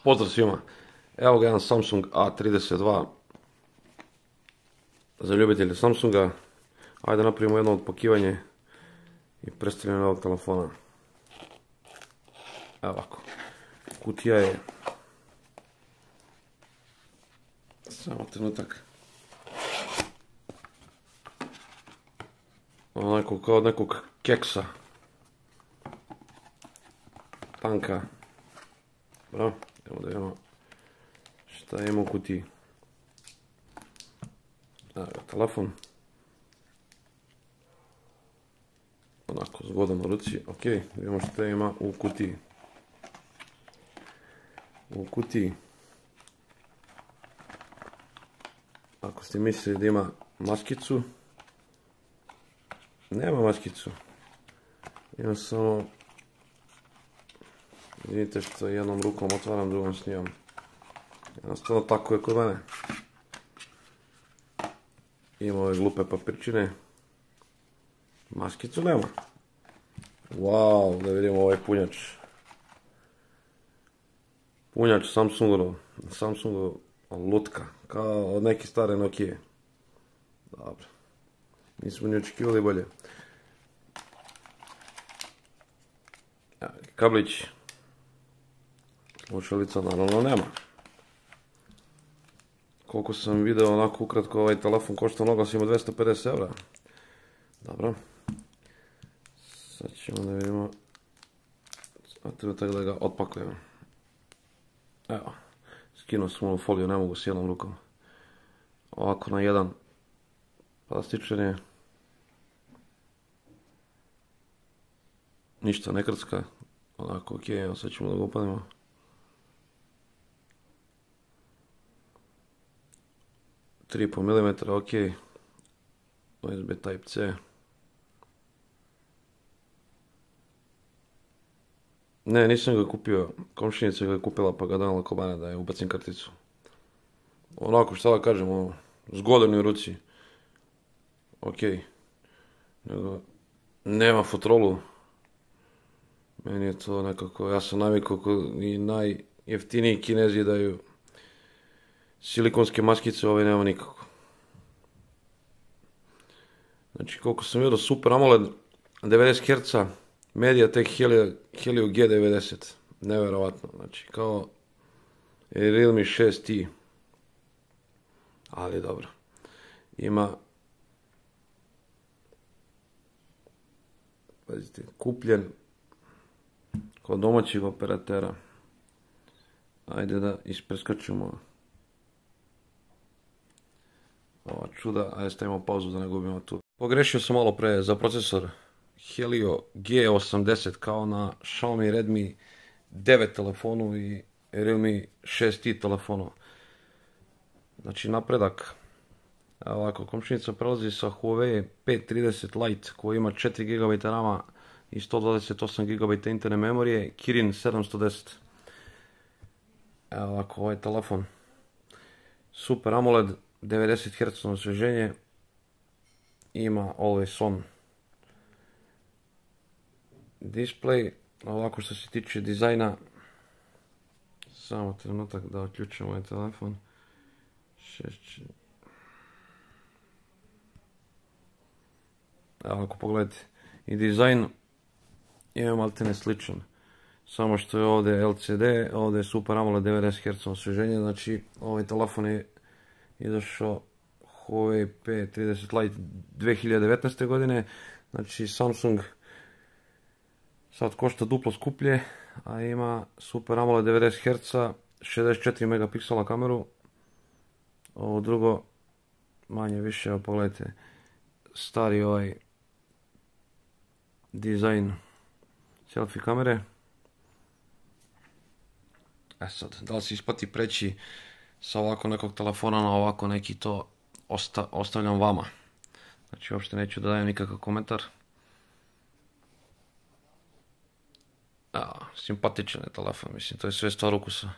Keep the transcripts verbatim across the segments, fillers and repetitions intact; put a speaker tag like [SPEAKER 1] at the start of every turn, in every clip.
[SPEAKER 1] Pozdrav svima. Evo ga jedan Samsung A trideset dva za ljubitelje Samsunga. Ajde napravimo jedno odpokivanje i predstavljanje ovog telefona. Evo ovako. Kutija je... Samo trenutak. Onako kao od nekog keksa. Tanka. Bravo. Evo da vidimo šta ima u kutiji. Evo ga telefon. Onako zgodan u ruci. Ok, vidimo šta ima u kutiji. U kutiji. Ako ste mislili da ima maskicu, nema maskicu. Ima samo... Vidite što jednom rukom otvaram, drugom snimam. Jednostavno tako je kod mene. Ima ove glupe papirčine. Maskicu nema. Wow, da vidimo ovaj punjač. Punjač Samsungov. Samsungov lutka. Kao od neke stare Nokije. Dobro. Nismo ni očekivali bolje. Kablić. Slušalica naravno nema. Koliko sam video onako ukratko, ovaj telefon košta mnogo, ima dvesta pedeset eura. Dobro. Sad ćemo da vidimo. A treba tako da ga otpakujemo. Evo. Skinuo sam ovu foliju, ne mogu s jednom rukom. Ovako na jedan plastičan je. Ništa ne krcka. Onako ok, evo sad ćemo da ga upadimo. tri i pol milimetra, ok. U S B Type C. Ne, nisam ga kupio. Komšinica ga je kupila pa ga donala kod mene da je ubacim karticu. Onako šta da kažem, ono, zgodan je u ruci. Ok. Nego, nema fotrolu. Meni je to nekako, ja sam navikao i najjeftiniji Kinezi daju silikonske maskice, ovaj nema nikako. Znači koliko sam vidio, Super AMOLED devedeset herca, MediaTek Helio G devedeset, nevjerovatno, znači kao Realme šest i, ali dobro, ima, pazite, kupljen kod domaćih operatera. Ajde da ispreskačemo ova čuda, ajde stavimo pauzu da ne gubimo tu. Pogrešio sam malo pre za procesor Helio G osamdeset kao na Xiaomi Redmi devet telefonu i Realme šest i telefonu. Znači napredak. Evo ovako, komšinica prelazi sa Huawei P trideset Lite koji ima četiri gigabajta rama i sto dvadeset osam gigabajta interne memorije, Kirin sedamsto deset. Evo ovako, ovaj telefon. Super AMOLED, devedeset herca osvježenje, ima Always On display. Ovako što se tiče dizajna, samo trenutak da uključim ovaj telefon. Evo ovako pogledajte, i dizajn je maltene sličan, samo što je ovdje L C D, ovdje je Super AMOLED devedeset herca osvježenje, znači ovaj telefon je izašao Huawei P trideset Lite dve hiljade devetnaeste. godine, znači Samsung sad košta duplo skuplje, a ima Super AMOLED devedeset herca, šezdeset četiri megapiksela kameru, ovo drugo manje više, evo pogledajte, stari ovaj dizajn selfie kamere. E sad, da li se isplati preći sa ovako nekog telefona na ovako neki, to osta, ostavljam vama. Znači uopšte neću da dajem nikakav komentar. A, simpatičan je telefon, mislim, to je sve stvar ukusa.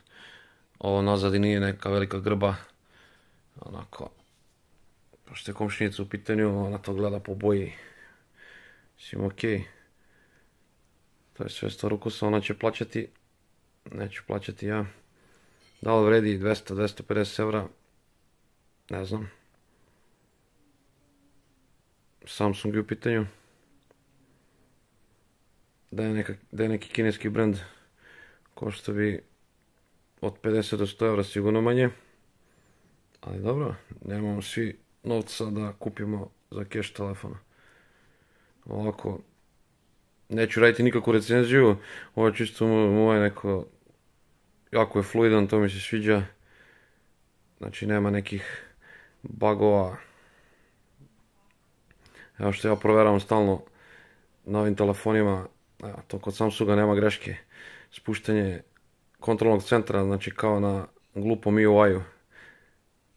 [SPEAKER 1] Ovo nazad i nije neka velika grba. Onako, pošto je komšinica u pitanju, ona to gleda po boji. Mislim, okej. To je sve stvar ukusa, ona će plaćati. Neću plaćati ja. Da li vredi dvesta do dvesta pedeset eura? Ne znam. Samsung je u pitanju. Da je, neka, da je neki kineski brand, košta bi od pedeset do sto eura sigurno manje. Ali dobro, nemamo svi novca da kupimo za cash telefona. Ovako, neću raditi nikakvu recenziju, ovo je čisto moje neko, jako je fluidan, to mi se sviđa. Znači nema nekih bugova. Evo što ja provjeravam stalno na ovim telefonima, evo, to kod Samsunga nema greške. Spuštanje kontrolnog centra, znači kao na glupom I U I-u.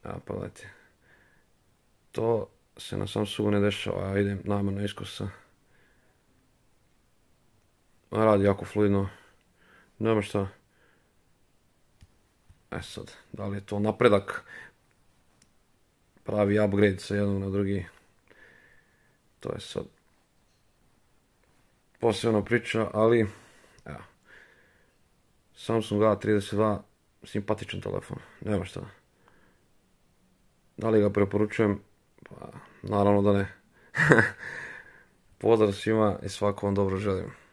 [SPEAKER 1] Evo pa gledajte. To se na Samsungu ne dešava, ja idem namjerno iskosa. Radi jako fluidno. Nema šta. E sad, da li je to napredak? Pravi upgrade sa jednog na drugi. To je sad posebna priča, ali evo. Samsung A trideset dva, simpatičan telefon, nema šta. Da li ga preporučujem? Pa, naravno da ne. Pozdrav svima i svako vam dobro želim.